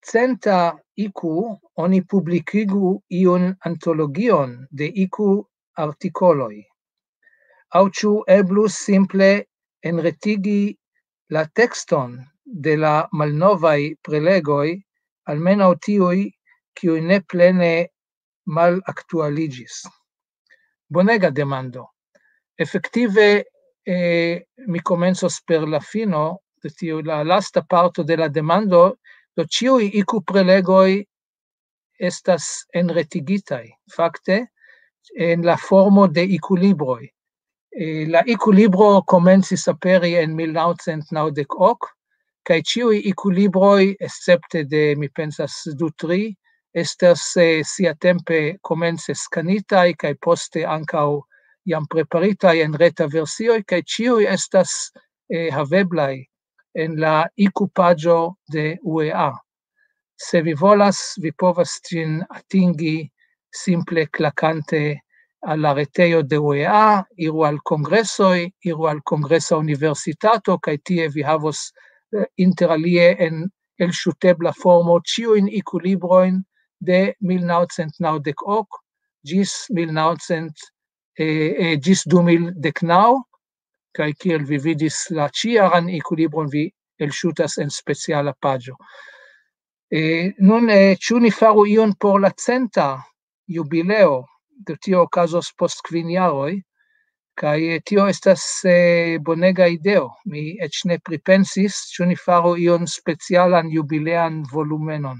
centa iku oni publikigu iun antologion de iku artikoloj? Aŭ ĉu eblus simple enretigi la tekston de la malnovaj prelegoj, almenaŭ tiuj, kiuj ne plene malaktualiĝis? Bonega demando. Efektive, eh, mi komencos per la fino de tiu, la lasta parto de la demando. Do ĉiuj iku prelegoj estas enretigitaj, fakte, en la formo de iku libroj. Eh, la iku libro komencis aperi en mil naŭcent naŭdek ok, kaj ĉiuj iku libroj, escepte de, mi pensas, du, tri, estas, eh, siatempe komence skanitaj kaj poste ankaŭ jam preparitaj en reta versioj, kaj ĉiuj estas, eh, haveblaj en la iku paĝo de U E A. Se vi volas, vi povas ĝin atingi simple klakante al la retejo de U E A, iru al kongresoj, iru al kongresa universitato, kaj tie vi havos, eh, inter alie en elŝutebla formo ĉiujn iku librojn de mil naŭcent naŭdek ok ĝis mil naŭcent, eh, eh, ĝis du mil dek naŭ, kaj kiel vi vidis la ĉijaran iku libron, vi elŝutas en speciala paĝo. Eh, nun, eh, ĉu ni faru ion por la centa jubileo? Do tio okazos post kvin jaroj, kaj, eh, tio estas, eh, bonega ideo. Mi eĉ ne pripensis, ĉu ni faru ion specialan jubilean volumenon.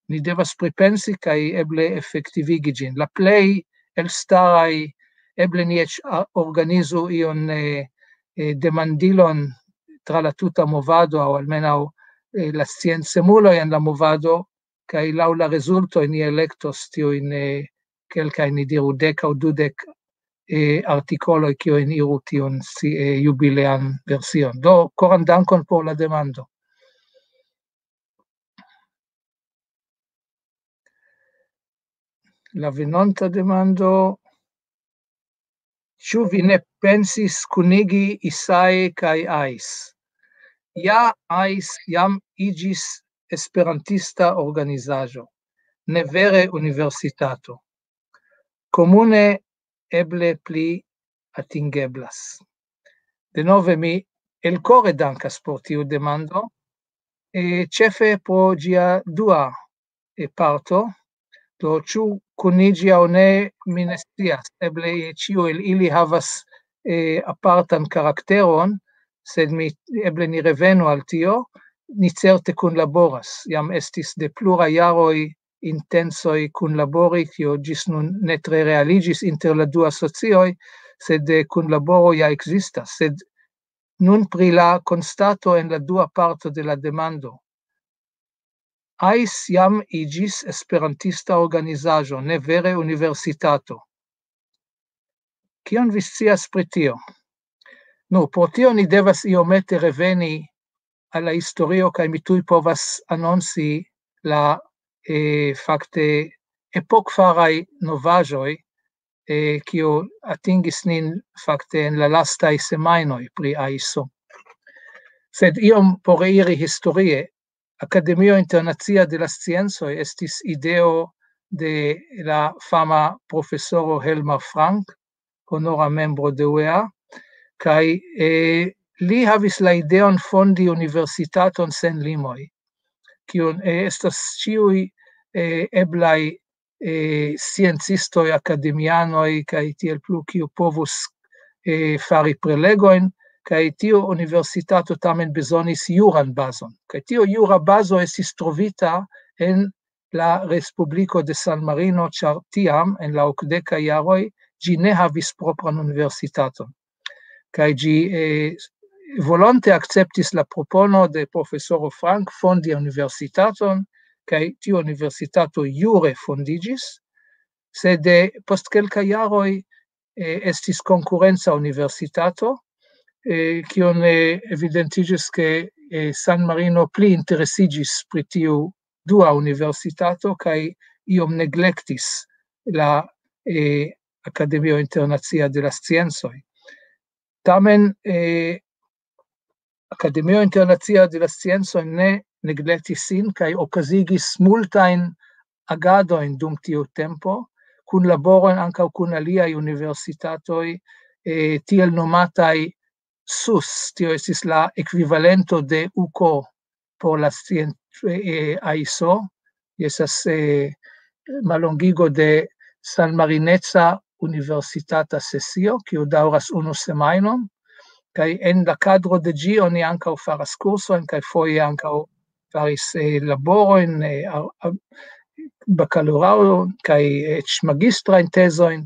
Ni devas pripensi kaj eble efektivigi ĝin. La plej elstaraj, eble ni eĉ a-, organizu ion, eh, eh, demandilon tra la tuta movado, aŭ almenaŭ, eh, la sciencemuloj en la movado, kaj laŭ la rezultoj ni elektos tiujn, eh, kelkajn, ni diru, dek aŭ dudek, eh, artikoloj, kiujn iru tiun si-, eh, jubilean version. Do, koran dankon por la demando. La venonta demando: ĉu vi ne pensis kunigi Isai kaj Ais? Ja, Ais jam iĝis esperantista organizaĵo, ne vere universitato. Komune eble pli atingeblas. Denove mi elkore dankas por tiu demando, e, ĉefe pro ĝia dua, e, parto. Do, ĉu kuniĝi aŭ ne, mi ne scias. Eble ĉiu el ili havas, e, apartan karakteron, sed mi, eble ni revenu al tio. Ni certe kunlaboras. Jam estis de pluraj jaroj intencoj kunlabori, kio ĝis nun ne tre realiĝis inter la du asocioj, sed, e, kunlaboro ja ekzistas. Sed nun pri la konstato en la dua parto de la demando. Ais jam iĝis esperantista organizaĵo, ne vere universitato. Kion vi scias pri tio? Nu, pro tio ni devas iomete reveni al la historio, kaj mi tuj povas anonci la, eh, fakte epokfaraj novaĵoj, eh, kio atingis nin fakte en la lastaj semajnoj pri Aiso. Sed iom por iri historie, Akademio Internacia de la Sciencoj estis ideo de la fama profesoro Helmar Frank, honora membro de U E A, kaj, eh, li havis la ideon fondi universitaton sen limoj, kiun, eh, estas ĉiuj, eh, eblaj eh, sciencistoj, akademianoj kaj tiel plu, kiu povus eh, fari prelegojn, kaj tiu universitato tamen bezonis juran bazon. Kaj tiu jura bazo estis trovita en la Respubliko de San Marino, ĉar tiam, en la okdekaj jaroj, ĝi ne havis propran universitaton. Kaj ĝi eh, volonte akceptis la propono de profesoro Frank fondi universitaton, kaj tiu universitato jure fondiĝis, sed eh, post kelkaj jaroj eh, estis konkurenca universitato, eh, kion eh, evidentiĝis, ke eh, San Marino pli interesiĝis pri tiu dua universitato kaj iom neglektis la eh, Akademio Internacia de la Sciencoj. Tamen eh, Akademio Internacia de la Sciencoj ne neglektis sin kaj okazigis multajn agadojn dum tiu tempo, kunlaboron ankaŭ kun aliaj universitatoj, eh, tiel nomataj sus, tio estis la ekvivalento de uko por la scien-, eh, aiso, estas eh, mallongigo de San Marineca Universitata Sesio, kiu daŭras unu semajnon, kaj en la kadro de ĝi oni ankaŭ faras kursojn, kaj foje ankaŭ faris eh, laborojn, eh, a- a- bakaloraŭro, kaj eĉ magistrajn tezojn,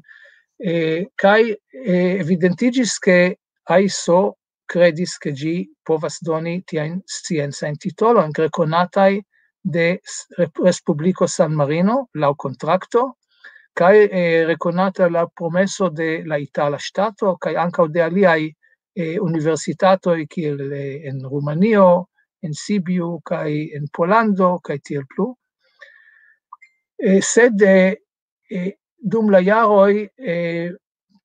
eh, kaj eh, evidentiĝis, ke aiso kredis, ke ĝi povas doni tiajn sciencajn titolojn rekonataj de s- Rep- Respubliko San Marino laŭ kontrakto, kaj eh, rekonata la promeso de la itala ŝtato, kaj ankaŭ de aliaj eh, universitatoj, kiel eh, en Rumanio, en Sibiu, kaj en Polando, kaj tiel plu. Eh, sed eh, eh, dum la jaroj eh,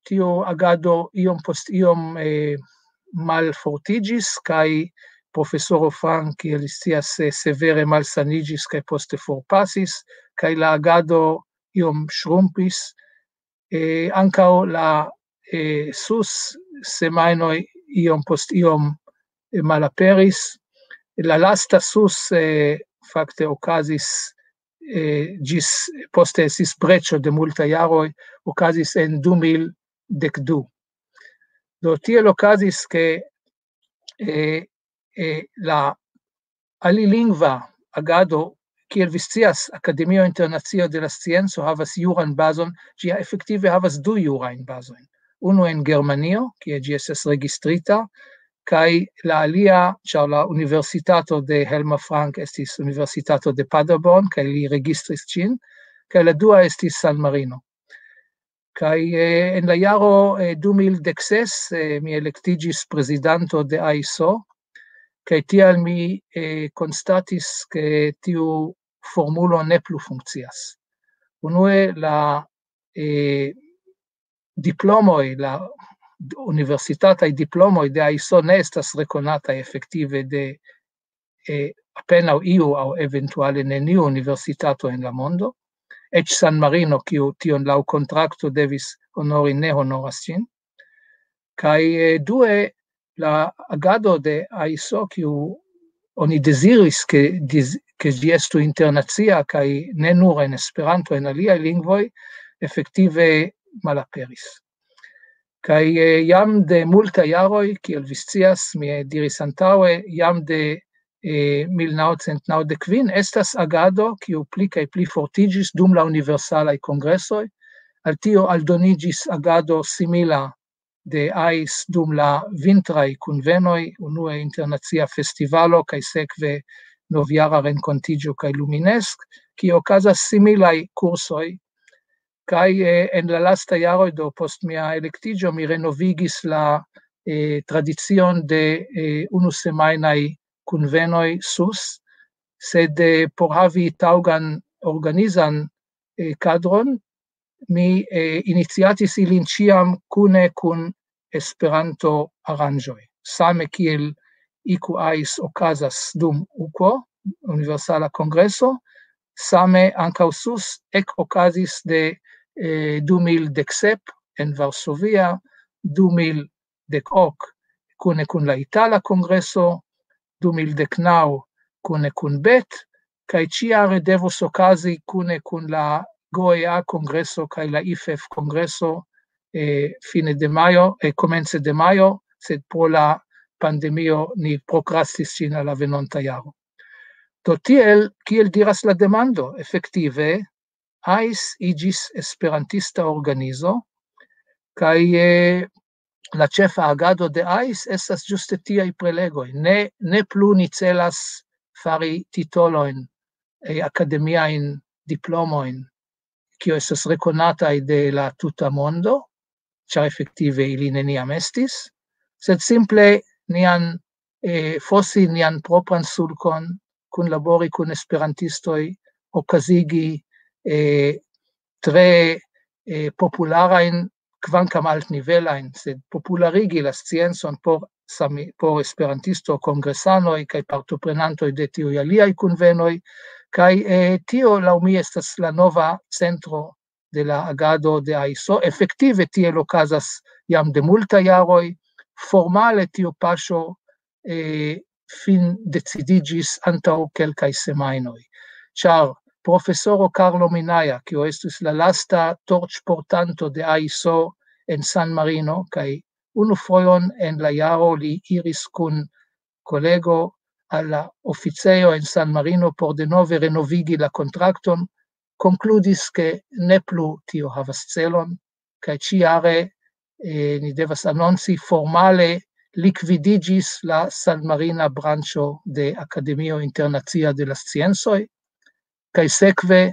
tio agado iom post iom eh, malfortiĝis, kaj profesoro Frank, kiel vi scias, eh, severe malsaniĝis kaj poste forpasis, kaj la agado iom ŝrumpis. Eh, ankaŭ la eh, sus semajnoj iom post iom eh, malaperis. La lasta sus eh, fakte okazis eh, ĝis poste estis breĉo de multaj jaroj, okazis en du mil dek du. Do tiel okazis, ke eh, eh, la alilingva agado, kiel vi scias, Akademio Internacio de la Scienco havas juran bazon, ĝi efektive havas du jurajn bazojn. Unu en Germanio, kie ĝi estas registrita, kaj la alia, ĉar la universitato de Helma Frank estis Universitato de Paderborn, kaj li registris ĝin, kaj la dua estis San Marino. Kaj eh, en la jaro eh, du mil dek ses eh, mi elektiĝis prezidanto de aiso, kaj tial mi eh, konstatis, ke tiu formulo ne plu funkcias. Unue, la eh, diplomoj, la universitataj diplomoj de aiso ne estas rekonataj efektive de eh, apenaŭ iu aŭ eventuale neniu universitato en la mondo. Eĉ San Marino, kiu tion laŭ kontrakto devis honori, ne honoras ĝin. Kaj eh, due, la agado de aiso, kiu oni deziris, ke, diz, ke ĝi estu internacia kaj ne nur en Esperanto, en aliaj lingvoj, efektive malaperis. Kaj eh, jam de multaj jaroj, kiel vi scias, mi diris antaŭe, jam de eh, mil naŭcent naŭdek kvin estas agado, kiu pli kaj pli fortiĝis dum la universalaj kongresoj. Al tio aldoniĝis agado simila de ais dum la vintraj kunvenoj, unue internacia festivalo kaj sekve novjara renkontiĝo kaj Luminesk, kie okazas similaj kursoj. Kaj eh, en la lasta jaroj, do post mia elektiĝo, mi renovigis la eh, tradicion de eh, unu semajnaj kunvenoj sus, sed eh, por havi taŭgan organizan eh, kadron, mi eh, iniciatis ilin ĉiam kune kun Esperanto-aranĝoj. Same kiel iku ais okazas dum uko, Universala Kongreso, same ankaŭ sus ek okazis de eh, du mil dek sep en Varsovia, du mil dek ok kune kun la Itala Kongreso, du mil dek naŭ kune kun bet, kaj ĉiare devus okazi kune kun la Goea kongreso kaj la IFEF kongreso, eh, fine de majo, eh, komence de majo, sed pro la pandemio ni prokrastis ĝin al la venonta jaro. Do tiel, kiel diras la demando, efektive, ais iĝis esperantista organizo, kaj, eh, la ĉefa agado de ais estas ĝuste tiaj prelegoj. Ne, ne plu ni celas fari titolojn, eh, akademiajn diplomojn, kio estas rekonataj de la tuta mondo, ĉar efektive ili neniam estis, sed simple nian, eh, fosi nian propran sulkon, kunlabori kun esperantistoj, okazigi, eh, tre, eh, popularajn, kvankam altnivelajn, sed popularigi la sciencon por sami-, por esperantisto, kongresanoj kaj partoprenantoj de tiuj aliaj kunvenoj, kaj, eh, tio laŭ mi estas la nova centro de la agado de aiso. Efektive tiel okazas jam de multaj jaroj. Formale tiu paŝo, eh, fin decidiĝis antaŭ kelkaj semajnoj, ĉar profesoro Carlo Minaja, kiu estis la lasta torĉportanto de aiso en San Marino, kaj unu fojon en la jaro li iris kun kolego al la oficejo en San Marino por denove renovigi la kontrakton, konkludis, ke ne plu tio havas celon, kaj ĉiare, eh, ni devas anonci formale likvidiĝis la San Marina branĉo de Akademio Internacia de la Sciencoj, kaj sekve,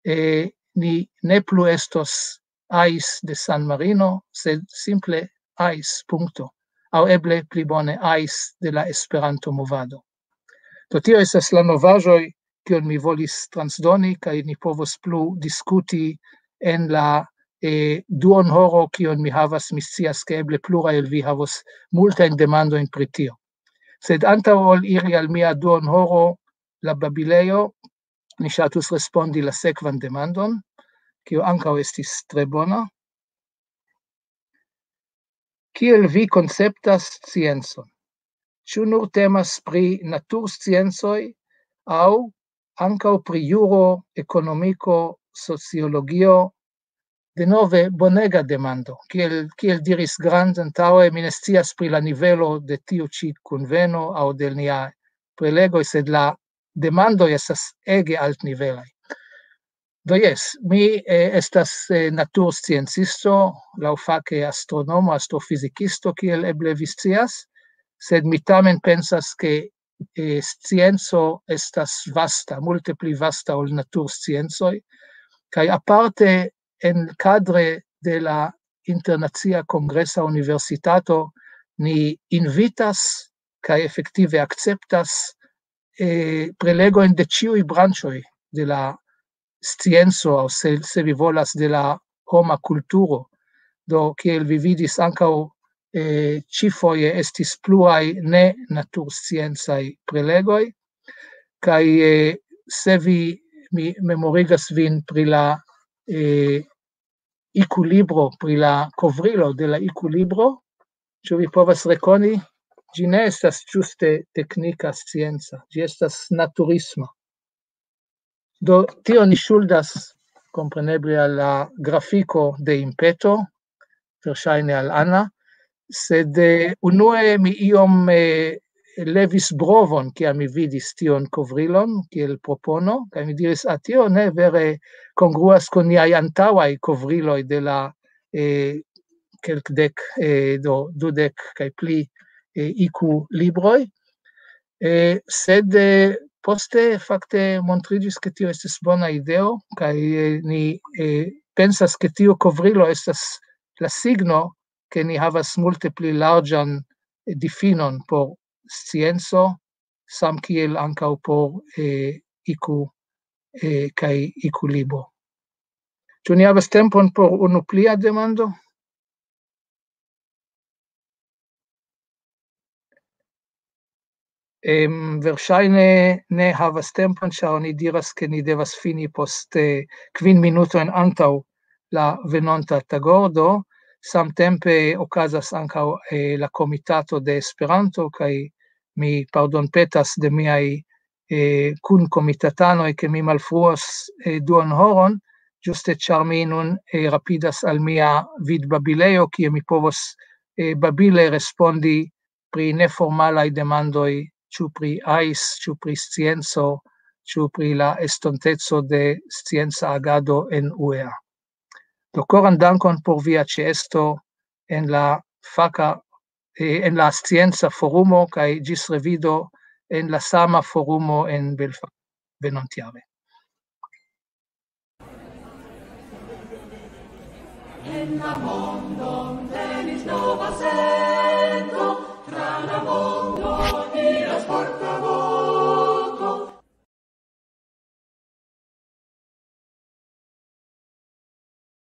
eh, ni ne plu estos ais de San Marino, sed simple ais, punkto. Aŭ eble pli bone ais de la Esperanto-movado. Do tio estas la novaĵoj, kion mi volis transdoni, kaj ni povos plu diskuti en la, eh, duonhoro, kion mi havas. Mi scias, ke eble pluraj el vi havos multajn demandojn pri tio. Sed antaŭ ol iri al mia duonhoro, la babilejo, mi ŝatus respondi la sekvan demandon, kio ankaŭ estis tre bona. Kiel vi konceptas sciencon? Ĉu nur temas pri natursciencoj aŭ ankaŭ pri juro, ekonomiko, sociologio? Denove, bonega demando. Kiel, kiel diris Grant antaŭe, mi ne scias pri la nivelo de tiu ĉi kunveno aŭ de nia prelegoj, sed la demandoj estas ege altnivelaj. Do jes, mi, eh, estas, eh, natursciencisto, laŭfake astronomo, astrofizikisto, kiel eble vi scias, sed mi tamen pensas, ke, eh, scienco estas vasta, multe pli vasta ol natursciencoj, kaj aparte en kadre de la Internacia Kongresa Universitato ni invitas kaj efektive akceptas, eh, prelegojn de ĉiuj branĉoj de la scienco, aŭ se, se vi volas, de la homa kulturo. Do, kiel vi vidis, ankaŭ, eh, ĉifoje estis pluaj ne natursciencaj prelegoj, kaj, eh, se vi, mi memorigas vin pri la, eh, ikulibro, pri la kovrilo de la ikulibro, ĉu vi povas rekoni? Ĝi ne estas ĝuste teknika scienca, ĝi estas naturisma. Do, tio ni ŝuldas, kompreneble, al la grafiko de Impeto, verŝajne al Anna, sed, eh, unue mi iom, eh, levis brovon, kiam mi vidis tion kovrilon, kiel propono, kaj mi diris: "Ah, tio ne vere kongruas kun niaj antaŭaj kovriloj de la, eh, kelkdek, eh, do, dudek kaj pli, eh, iku libroj." Eh, sed, eh, poste fakte montriĝis, ke tio estis bona ideo, kaj, eh, ni, eh, pensas, ke tiu kovrilo estas la signo, ke ni havas multe pli larĝan, eh, difinon por scienco, samkiel ankaŭ por, eh, iku, eh, kaj iku libo. Ĉu ni havas tempon por unu plia demando? Em, verŝajne ne havas tempon, ĉar oni diras, ke ni devas fini post, eh, kvin minutojn antaŭ la venonta tagordo. Samtempe okazas ankaŭ, eh, la komitato de Esperanto, kaj mi pardonpetas de miaj, eh, kun komitatanoj, ke mi malfruos, eh, duon horon, ĝuste ĉar mi nun, eh, rapidas al mia vidbabilejo, kie mi povos, eh, babile respondi pri neformalaj demandoj, ĉu pri ais, ĉu pri scienco, ĉu pri la estonteco de scienca agado en U E A. Do koran dankon por via ĉeesto en la faka, eh, en la scienca forumo, kaj ĝis revido en la sama forumo en Belfast venontjare. En la mondon venis nova sento.